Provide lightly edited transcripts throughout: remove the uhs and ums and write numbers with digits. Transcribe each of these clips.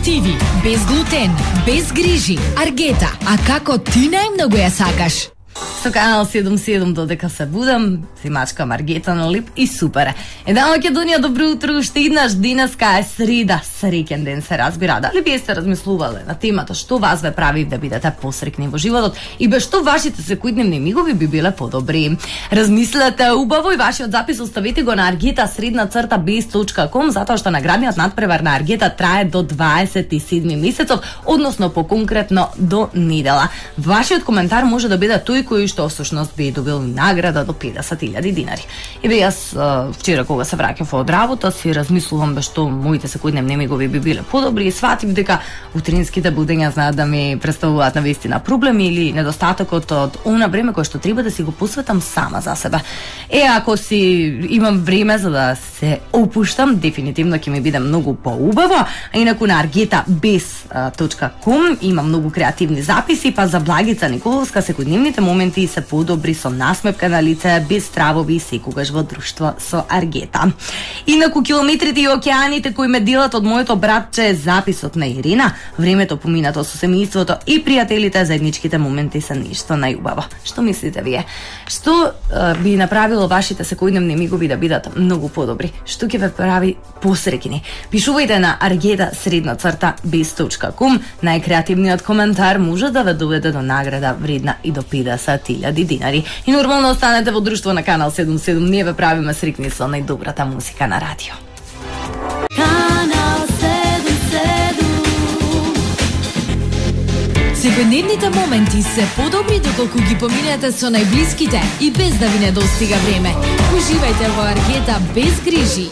адитиви, без глутен, без грижи. Аргета, а како ти најмногу ја сакаш? Со Канал 77 додека се будам, си мачкам Аргета на лип и супер. Една Македонија, добро утро, уште еднаш денеска е среда, среќен ден се разбира. Дали би сте размислувале на темата што вас ве прави да бидете посрекни во животот и без што вашите секојдневни мигови би биле подобри? Размислете убаво и вашиот запис оставете го на argeta_biz.com, затоа што наградниот надпревар на Аргета трае до 27 месецов, односно поконкретно до недела. Вашиот коментар може да биде тој кој што всушност би добил награда до 50.000 динари. И бе јас вчера кога се враќав од работа си размислувам бе што моите секојдневни мигови би биле подобри и сватив дека утринските будења знаат да ми представуваат навистина проблеми или недостатокот од она време кое што треба да си го посветам сама за себе. Ако си имам време за да се опуштам, дефинитивно ќе ми биде многу поубаво. А инаку на argeta.biz.com има многу креативни записи, па за Благица Николовска секојдневните моменти се подобри со насмевка на лице, без стравови и секогаш во друштво со Аргета. Инаку километрите и океаните кои ме делат од моето братче е записот на Ирина. Времето поминато со семејството и пријателите, заедничките моменти се нешто најубаво. Што мислите вие? Што би направило вашите секојдневни мигови да бидат многу подобри? Што ќе ве прави посреќни? Пишувајте на argeta_biz.com. Најкреативниот коментар може да ве доведе до награда вредна и до 50.000 динари. И нормално останете во друштво на Канал 77. Ние ве правиме срекни со најдобрата музика на радио. Канал 77. Секојдневните моменти се подобри доколку ги поминете со најблиските и без да ви недостига време. Уживајте во Аргета без грижи.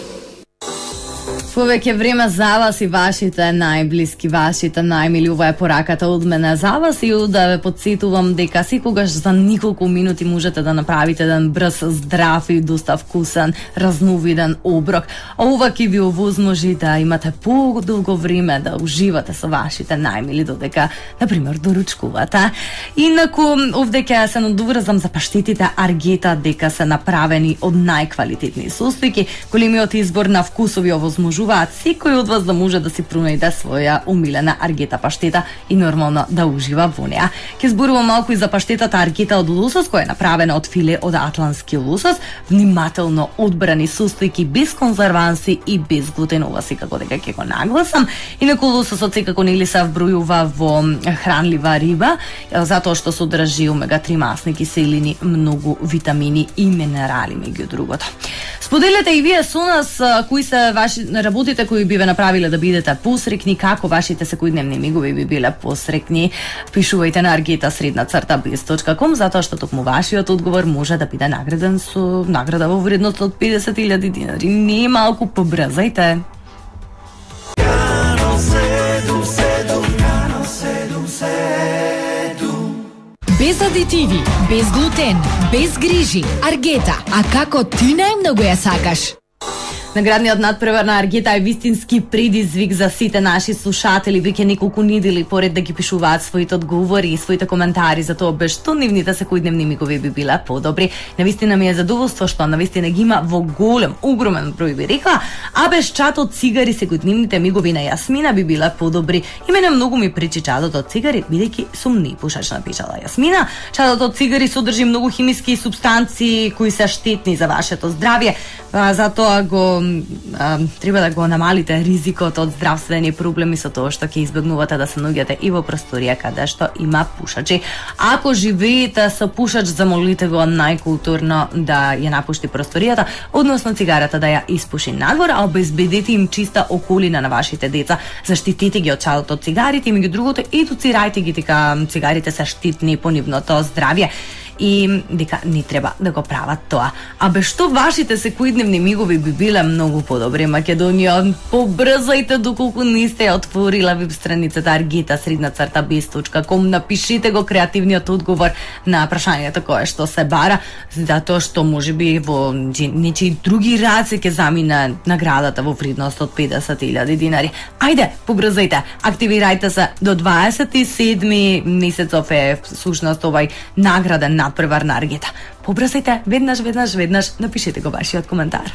Повеќе време за вас и вашите најблиски, вашите најмили. Ова е пораката од мене за вас и да ве подсетувам дека секогаш за неколку минути можете да направите еден брз, здрав и доста вкусен, разновиден оброк. Ова ќе ви овозможи да имате подолго време да уживате со вашите најмили додека, например, доручкувате. Инаку, овде ќе се надоврзам за паштетите Аргета дека се направени од најквалитетни состојки. Големиот избор на вкусови овозможуваат секој од вас да може да си пронајде своја умилена Аргета паштета и нормално да ужива во неа. Ќе зборувам малку и за паштетата Аргета од лосос, која е направена од филе од атлантски лосос, внимателно одбрани состојки, без конзерванси и без глутен. Ова секако дека ќе го нагласам. Инаку лососот секако нели се вбројува во хранлива риба, затоа што содржи омега-3 масни киселини, многу витамини и минерали меѓу другото. Споделете и вие со нас кои се ваши работите кои би ве направиле да бидете посрекни, како вашите секојдневни мигови би биле посрекни. Пишувајте на argeta_biz.com, затоа што токму вашиот одговор може да биде награден со награда во вредност од 50.000 динари. Не малку побрзајте. Без адитиви, без глутен, без грижи. Аргета, а како ти најмногу ја сакаш? Наградниот надпревар на Аргета е вистински предизвик за сите наши слушатели. Веќе неколку недели поред да ги пишуваат своите одговори и своите коментари за тоа без што нивните секојдневни мигови би биле подобри. Навистина ми е задоволство што навистина ги има во голем, огромен број би рекла, а без чатот цигари секојдневните мигови на Јасмина би биле подобри. И мене многу ми причи чатот од цигари, бидејќи сум непушачна, пишала Јасмина. Чатот од цигари содржи многу химиски супстанции кои се штетни за вашето здравје, затоа го треба да го намалите ризикот од здравствени проблеми со тоа што ќе избегнувате да се наоѓате и во просторија каде што има пушачи. Ако живеете со пушач, замолите го најкултурно да ја напушти просторијата, односно цигарата да ја испуши надвор, а обезбедете им чиста околина на вашите деца. Заштитете ги од чалот од цигарите и меѓу другото едуцирајте ги дека цигарите се штетни по нивното здравје и дека не треба да го прават тоа. А без што вашите секојдневни мигови би биле многу подобри. Македонија, побрзајте доколку не сте отворила веб страницата argeta_biz.com, напишите го креативниот одговор на прашањето кое што се бара, затоа што можеби во нечии други раце ќе замине наградата во вредност од 50.000 динари. Ајде, побрзајте, активирајте се до 27 месецов е всушност овај награден надпревар на Аргета. Побрзајте, веднаш, напишете го вашиот коментар.